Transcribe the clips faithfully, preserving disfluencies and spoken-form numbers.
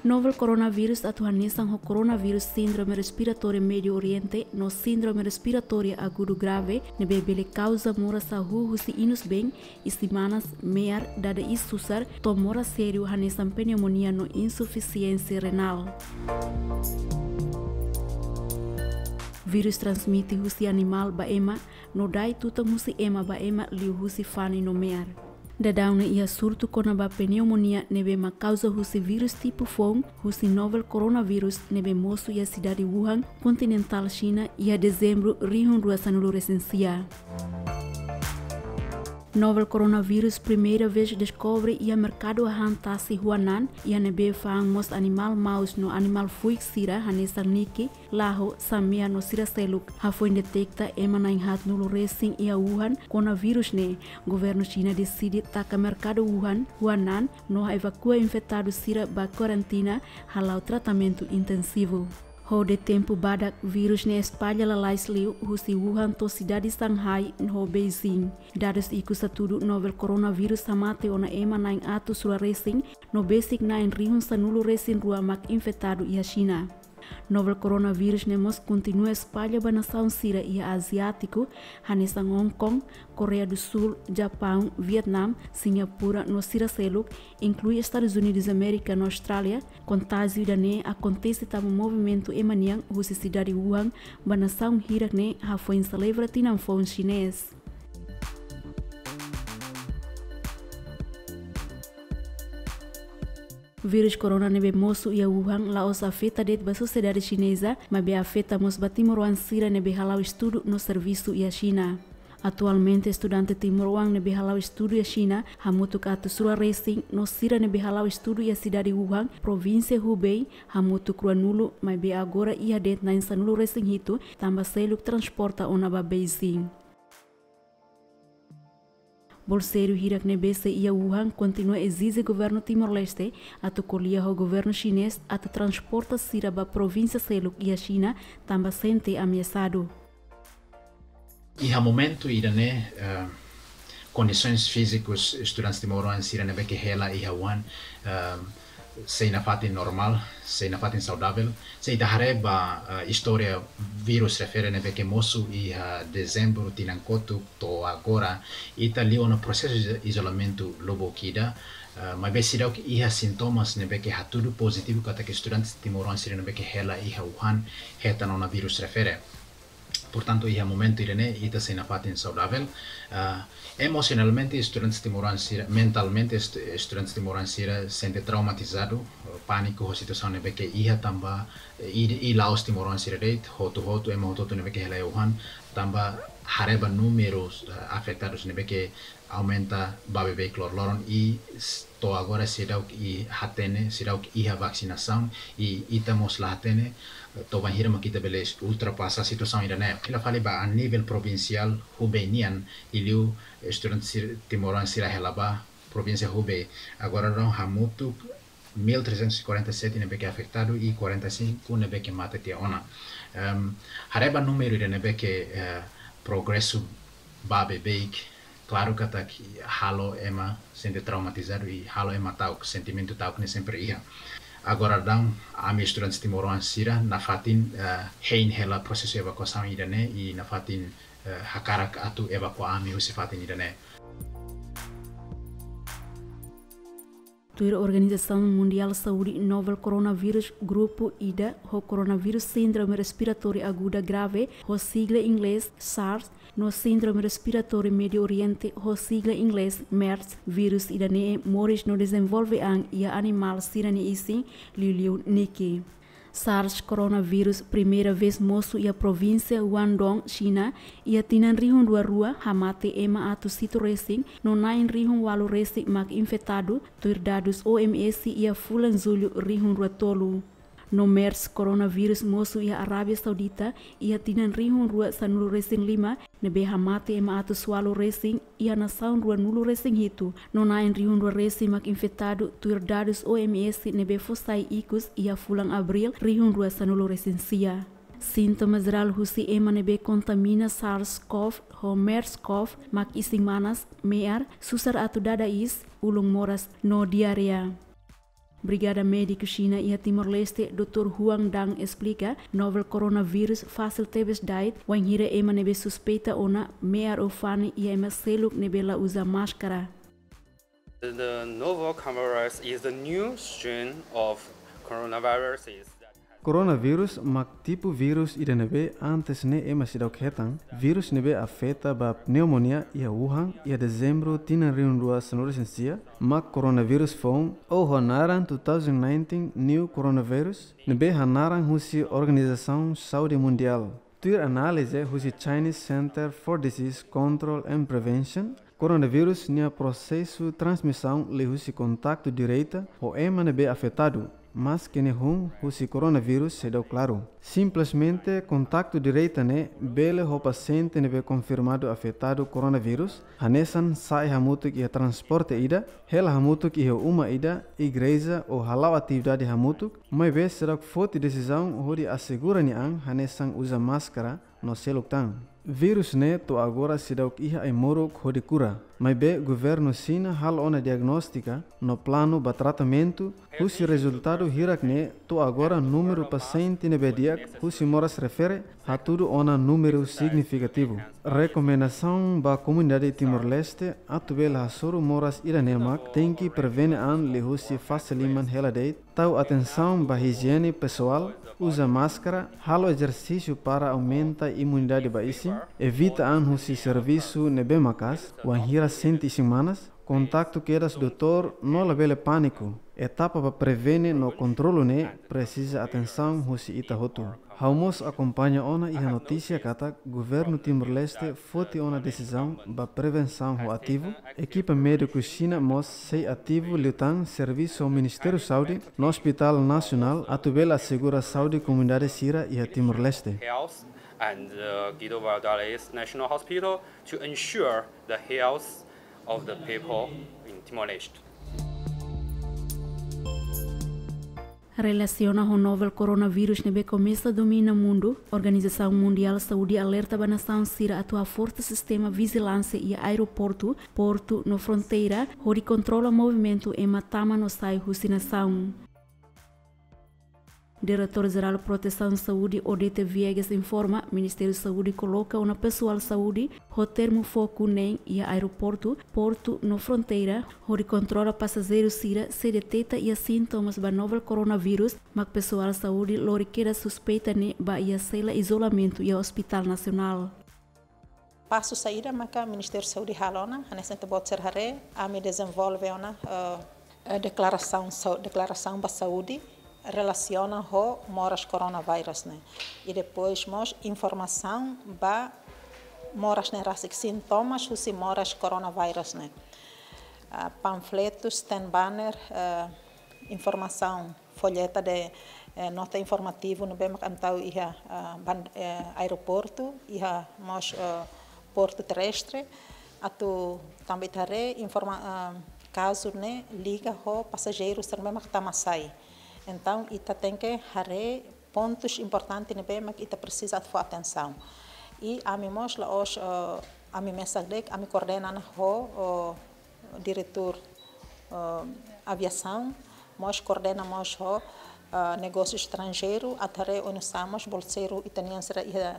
Novel koronavírus atu hanesan ho koronavírus síndrome respiratória Médiu Oriente no síndrome respiratória agudu grave, ne'ebé bele kauza moras hahú husi inusbeen, isin-manas, me'ar, dada iis susar, to'o moras sériu hanesan pneumonia no insufisiénsia renál. Vírus transmite husi animál ba ema, no dai tutan husi ema ba ema liuhusi fani no me'ar. Daudaun ne'e iha surtu kona-ba pneumonia ne'ebé mak kauza husi vírus tipu foun husi novel koronavírus ne'ebé mosu iha sidade Wuhan, kontinentál Xina, iha Dezembru rihun rua sanulu resin sia. Novel koronavírus primeira vez deskobre iha merkadu hahán tasi Huanan, iha ne'ebé fa'an mós animál maus no animál fuik sira hanesan niki, laho, samea no sira seluk. Hafoin deteta ema na'in haatnulu resin iha Wuhan kona vírus ne'e, governu Xina deside taka merkadu Wuhan, Huanan, no evakua infetadu sira ba karantina, hala'o tratamentu intensivu. Hodi tempu badak, vírus ne'e espalla lalais liu husi Wuhan to'o sidade Shanghai no Beijing. Dadus ikus hatudu novel koronavírus hamate ona ema na'in atus rua resin, no besik na'in rihun sanulu resin rua mak infetadu iha Xina. Novel koronavírus ne'e mós kontinua espalla ba nasaun sira iha Aziátiku, hanesan Hong Kong, Koreia do Sul, Japaun, Vietname, Singapura no sira seluk, inklui Estadus Unidus Amérika no Austrália. Kontájiu ida-ne'e akontese tanba movimentu ema nian husi sidade Wuhan ba nasaun hirak ne'e hafoin selebra tinan foun xinés. Vírus korona ne'ebé mosu iha Wuhan la'ós afeta de'it ba sosiedade xineza, maibé afeta mós ba timoroan sira ne'ebé hala'o estudu no servisu iha Xina. Atualmente, estudante timoroan ne'ebé hala'o estudu iha Xina hamutuk atus rua resin, no sira ne'ebé hala'o estudu iha sidade Wuhan, provínsia Hubei, hamutuk ruanulu, maibé agora iha de'it na'in sanulu resin hitu, tanba seluk transporta ona ba Beijing. Bolseiru hirak ne'ebé sei iha Wuhan kontinua ezije governu Timor-Leste atu ko'alia ho governu xinés atu transporta sira ba provínsia seluk iha Xina, tanba sente ameasadu. Iha momentu ida-ne'e, eh, kondisoens fízikus estudante timoroan sira ne'ebé ke hela iha Wuhan, eh, sei nafatin normál, sei nafatin saudavel. Se ita haree ba, eh, istória vírus refere ne'ebé ke mosu iha Dezembru tinan kotuk to'o agora, ita liu ona prosesu izo-, izolamentu lubuk ida, eh, maibé seidauk iha sintomas ne'ebé ke hatudu pozitivu katak estudante timoroan sira ne'ebé ke hela iha Wuhan hetan ona vírus refere. Portantu, iha momentu ida-ne'e, ita sei nafatin saudavel. Ah, emosionalmente, estudante timoroan sira, mentalmente, estu-, estudante timoroan sira sente traumatizadu, pániku ho situasaun ne'ebé ke iha tanba, eh, i, i la'ós timoroan sira de'it, hotu-hotu, ema hotu-hotu ne'ebé ke hela iha Wuhan, tanba haree ba númeru, eh, afetadus ne'ebé ke aumenta ba beibeik loroloron i s-, to'o agora seidauk i hatene, seidauk iha vakinasaun i ita mós la hatene, eh, to'o bainhira mak ita bele ultrapasa situasaun ida-ne'e. Fila fali ba a nivel provinsiál Hubei nian, i liu estudante sir-, timoroan sira hela ba provínsia Hubei. Agora daudaun hamutuk mil trezentos e quarenta e sete ne'ebé ke afetadu i quarenta e cinco ne'ebé ke mate tiha ona. Em, haree ba númeru ida ne'ebé ke, eh, progresu ba beibeik, klaru katak halo ema sente traumatizadu i halo ema ta'uk, sentimentu ta'uk ne'e sempre iha. Agora daudaun ami estudante timoroan sira nafatin, eh, hein hela prosesu evakuasaun ida-ne'e i nafatin, eh, hakarak atu evakua ami husi fatin ida-ne'e. Tuir Organizasaun Mundiál Saúde, novel koronavírus grupu ida ho koronavírus síndrome respiratória aguda grave, ho sigla inglés SARS, no síndrome respiratória Médiu Oriente, ho sigla inglés MERS, vírus ida-ne'e moris no dezenvolve an iha animál sira-nia isin, liuliu niki. SARS koronavírus primeira vez mosu iha provínsia Guangdong, Xina, iha tinan rihun rua rua, hamate ema atus hitu resin, no na'in rihun ualu resin mak infetadu, tuir dadus O M S iha fulan Jullu rihun rua tolu. No MERS koronavírus mosu iha Arábia Saudita, iha tinan rihun rua sanulu resin lima, ne'ebé hamate ema atus ualu resin, iha nasaun ruanulu resin hitu, no na'in rihun rua resin mak infetadu, tuir dadus O M S ne'ebé fó sai ikus iha fulan Abríl rihun rua sanulu resin sia. Sintoma jerál husi ema ne'ebé kontamina SARS-CoV ho MERS-CoV mak isin-manas, me'ar, susar atu dada iis, ulun moras no diarreia. Brigada Médiku Xina iha Timor-Leste, doutór Huang Dang esplika, novel coronavírus fasil tebes da'et, wainhira ema ne'ebé suspeita ona me'ar ou fani iha ema seluk ne'ebé la uza máskara. The novel coronavirus is the new strain of coronavirus is that has Coronavírus mak tipu vírus ida ne'ebé antes ne'e ema seidauk hetan, vírus ne'ebé afeta ba pneumonia iha Wuhan iha Dezembru tinan rihun rua sanulu-resin-sia, mak coronavírus foun, ou ho naran two thousand nineteen new coronavirus, ne'ebé hanaran husi Organizasaun Saúde Mundiál. Tuir análize husi Chinese Center for Disease Control and Prevention, coronavírus nia prosesu transmisaun liuhusi kontaktu direta ho ema ne'ebé afetadu, maske nia hun husi coronavírus seidauk klaru. Simplesmente kontaktu direta ne'e bele ho pasiente ne'ebé konfirmadu afetadu coronavírus, hanesan sa'e hamutuk iha transporte ida, hela hamutuk iha uma ida, igreja ou hala'o atividade hamutuk, maibé seidauk foti desizaun hodi asegura nia an hanesan uza máskara no seluk tan. Vírus ne'e to'o agora seidauk iha ai-moruk hodi kura. Maibé governu Xina halo ona diagnóstika no planu ba tratamentu, husi rezultadu hirak ne'e to'o agora númeru pasiente ne'ebé di'ak husi moras refere hatudu ona númeru signifikativu. Rekomendasaun ba komunidade Timor-Leste atu bele hasoru moras ida-ne'e mak tenke prevene an liuhusi fase liman hela de'it, tau atensaun ba ijiene pesoál, uza máskara, halo ezersísiu para aumenta imunidade ba isin, evita an husi servisu ne'ebé maka'as, wainhira sente isin-manas, kontaktu kedas doutór no labele pániku. Etapa ba prevene no kontrolu ne'e presiza atensaun husi ita hotu. Ha'u mós akompaña ona iha notísia katak governu Timor-Leste foti ona desizaun ba prevensaun ho ativu, ekipa médiku Xina mós sei ativu liután servisu ho Ministériu Saúde no Ospitál Nasionál atu bele asegura saúde komunidade sira iha Timor-Leste. Health and, uh, Guido Valadares National Hospital to ensure the health of the people in Timor-Leste. Relasiona ho novel coronavírus ne'ebé komesa domina mundu, Organizasaun Mundiál Saúde alerta ba nasaun sira atu haforsa sistema vijilánsia iha aeroportu, portu no fronteira, hodi kontrola movimentu ema tama no sai husi nasaun. Diretór Jerál Protesaun Saúde, Odete Viegas, informa, Ministériu Saúde koloka ona pesoál saúde ho termu foku neen iha aeroportu, portu no fronteira, hodi kontrola pasajeiru sira se deteta iha sintomas ba novel coronavírus, mak pesoál saúde lori kedas suspeita ne'e ba iha sela izolamentu iha Ospitál Nasionál. Pasu saida maka Ministériu Saúde halo ona, hanesan ita-boot sira haree, ami dezenvolve ona, eh, eh, deklarasaun sau-, deklarasaun ba saúde relasiona ho moras coronavírus ne'e. I depois mós informasaun ba moras ne'e rasik, sintomas husi moras coronavírus ne'e. Ah, panfletus, ten banner, eh, informasaun, folheta de, eh, nota informativu ne'ebé mak ami tau iha, ah, ban-, eh, aeroportu, iha mós, eh, portu terrestre, atu tanba ita haree informa-, ah, kazu ne'e liga ho pasajeiru sira ne'ebé mak tama sai. Entaun, ita tenke haree pontus importante ne'ebé mak ita presiza atu fó atensaun. I ami mós la'ós, eh, ami mesak de'it, ami koordena ona ho, eh, diretór, eh, aviasaun, mós koordena mós ho, eh, negósiu estranjeiru, atu haree oinsá mós bolseiru ita-nian sira iha,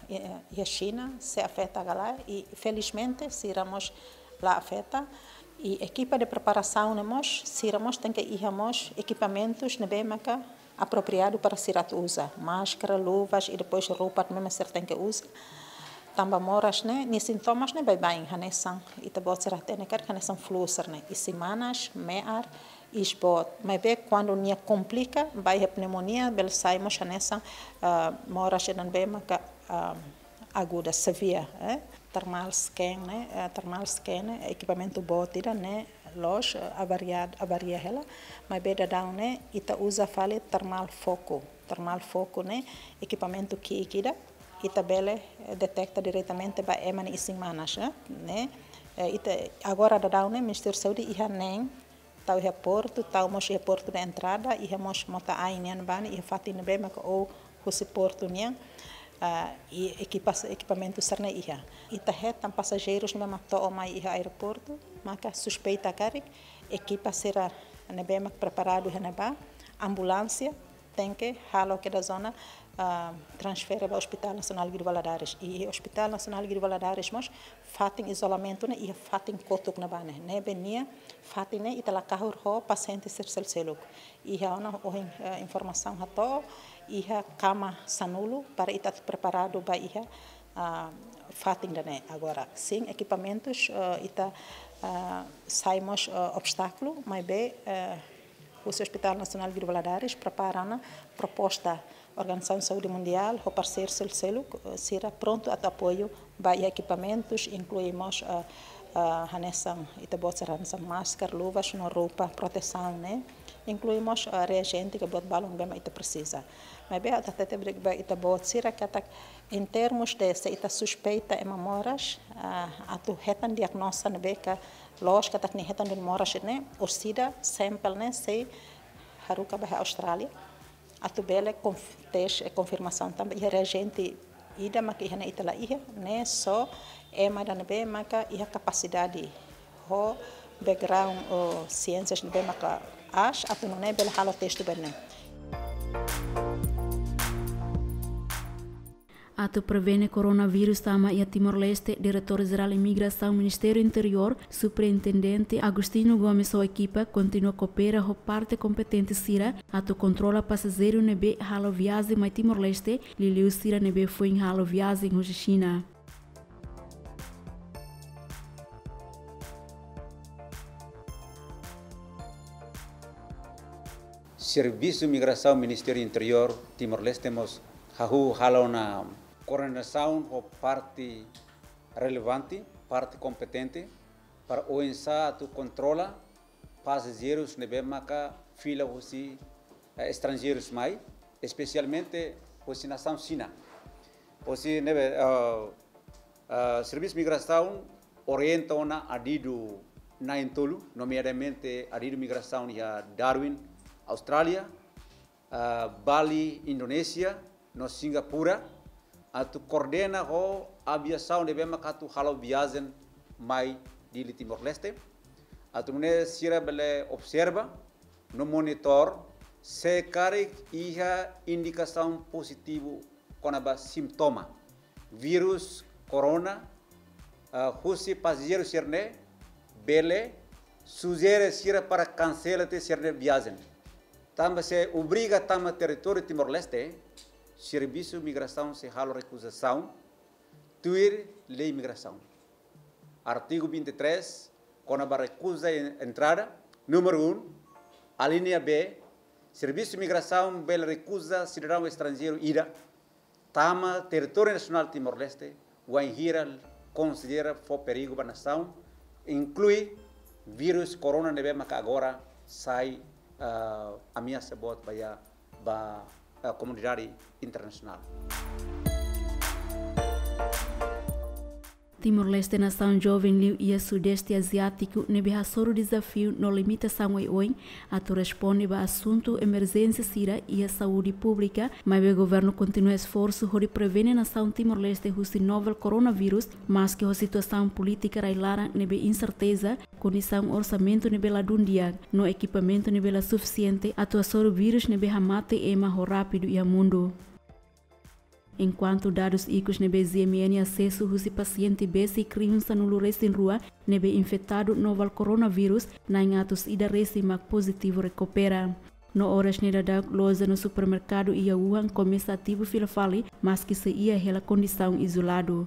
eh, iha, iha Xina, se afeta ka lae, i felizmente sira mós la afeta. I ekipa de preparasaun ne'e mós, sira mós tenke iha mós ekipamentus ne'ebé maka apropriadu para sira atu uza. Máskara, luvas i depois roupa ne'ebé mak sira tenke uza. Tanba moras ne'e, nia sintomas ne'e baibain, hanesan ita-boot sira hatene karik hanesan flu sira-ne'e. Isin-manas, me'ar, iis boot. Maibé kuandu nia komplika, ba iha pneumonia, bele sai mós hanesan, ah, moras ida ne'ebé maka, ah, aguda, severe, eh? Thermal scan ne'e, eh, thermal scan ne'e, ekipamentu boot ida ne'e loos, eh, avaria, avaria hela, maibé daudaun ne'e ita uza fali thermal foco. Thermal foco ne'e ekipamentu ki'ik ida, ita bele, eh, deteta diretamente ba ema nia isin-manas, eh, ne'e, eh, ita agora daudaun ne'e Ministériu Saúde iha neen, tau iha portu, tau mós iha portu de entrada, iha mós mota-ain nian bá ne'e, iha fatin ne'ebé maka ou husi portu nian, ah, i ekipas-, ekipamentu sira-ne'e iha. Ita hetan pasajeirus ne'ebé mak to'o mai iha aeroportu, maka suspeita karik, ekipa sira Ne'ebé mak preparadu iha ne'ebá, ambulánsia tenke halo kedas ona, ah, transfere ba Hospital Nasionál Guido Valadares. I Hospital Nasionál Guido Valadares mós fatin izolamentu ne'e iha fatin kotuk ne'ebá ne'e. Ne'ebé nia fatin ne'e ita la kahur ho pasiente sira seluk-seluk. Iha ona ohin, eh, informasaun hato'o, iha kama sanulu para ita preparadu ba iha, ah, fatin ida-ne'e. Agora, sin ekipamentus, eh, ita, ah, sai mós, eh, obstákulu, maibé, eh, husi Hospital Nasionál Guido Valadares prepara ona proposta Organizasaun Saúde Mundiál ho parseiru seluk-seluk, eh, sira prontu atu apoiu ba iha ekipamentus, inklui mós, eh, eh, hanesan ita-boot sira hanesan máskara, luvas no roupa protesaun ne'e, inklui mós, eh, reajente ka buat balun ne'ebé mak ita presiza. Maibé atu hatete ba ita-boot sira katak, em termos de se ita suspeita ema moras, ah, atu hetan diagnoza ne'ebé ka loos katak nia hetan duni moras ne'e, orsida sampel ne'e sei haruka ba iha Austrália atu bele konf-, tes, eh, konfirmasaun tanba iha reajente ida maka iha ne'e ita la iha, ne'e só ema ida ne'ebé maka iha kapasidade ho background ou siénsias ne'ebé maka aas atu nune'e bele halo teste ba ne'e. Atu prevene koronavírus tama iha Timor-Leste, Diretór Jerál Imigrasaun Ministériu Interiór, Superintendente Agostinho Gomes ho ekipa kontinua koopera ho parte kompetente sira atu kontrola pasajeiru ne'ebé halo viajen mai Timor-Leste, liuliu sira ne'ebé foin halo viajen husi Xina. Servisu Migrasaun Ministériu Interiór Timor-Leste mós hahú halo ona koordenasaun ho parte relevante, parte kompetente, para oinsá atu kontrola pasajeirus ne'ebé maka fila husi, eh, estranjeirus mai, espesialmente husi nasaun Xina. Husi ne'ebé, eh, eh, Servisu Migrasaun orienta ona adidu na'in-tolu, nomeadamente adidu migrasaun iha Darwin, Austrália, ah, Bali, Indonézia, no Singapura, atu koordena ho aviasaun ne'ebé maka atu halo viajen mai Dili Timor-Leste, atu nune'e sira bele observa no monitor se karik iha indikasaun pozitivu kona-ba sintoma vírus korona, ah, husi pasajeiru sira-ne'e, bele sujere sira para kansela tiha sira-nia viajen. Tanba se obriga tama territóriu Timor-Leste, Servisu Migrasaun sei halo rekuzasaun tuir lei migrasaun. Artigu vinte e três, kona-ba rekuza en-, entrada, númeru um, alínea B, Servisu Migrasaun bele rekuza sidadaun estranjeiru ida tama territóriu nasionál Timor-Leste, wainhira konsidera fó perigu ba nasaun, inklui vírus korona ne'ebé maka agora sai, ah, ameasa boot ba iha, ba, ah, komunidade internasionál. Timor-Leste nasaun joven liu iha Sudeste Aziátiku ne'ebé hasoru dezafiu no limitasaun oioin atu responde ba asuntu emerjénsia sira iha saúde públika, maibé governu kontinua esforsu hodi prevene nasaun Timor-Leste husi novel koronavírus, maski ho situasaun polítika rai-laran ne'ebé inserteza, kondisaun orsamentu ne'ebé ladún di'ak, no ekipamentu ne'ebé la sufisiente atu hasoru vírus ne'ebé hamate ema ho rápidu iha mundu. Enkuantu dadus ikus ne'ebé G M N asesu husi pasiente besik rihun sanulu-resin-rua ne'ebé infetadu novel koronavírus, na'in atus ida resin mak pozitivu rekupera. No oras ne'e daudaun loja no supermerkadu iha Wuhan komesa ativu fila fali, maski sei iha hela kondisaun izoladu.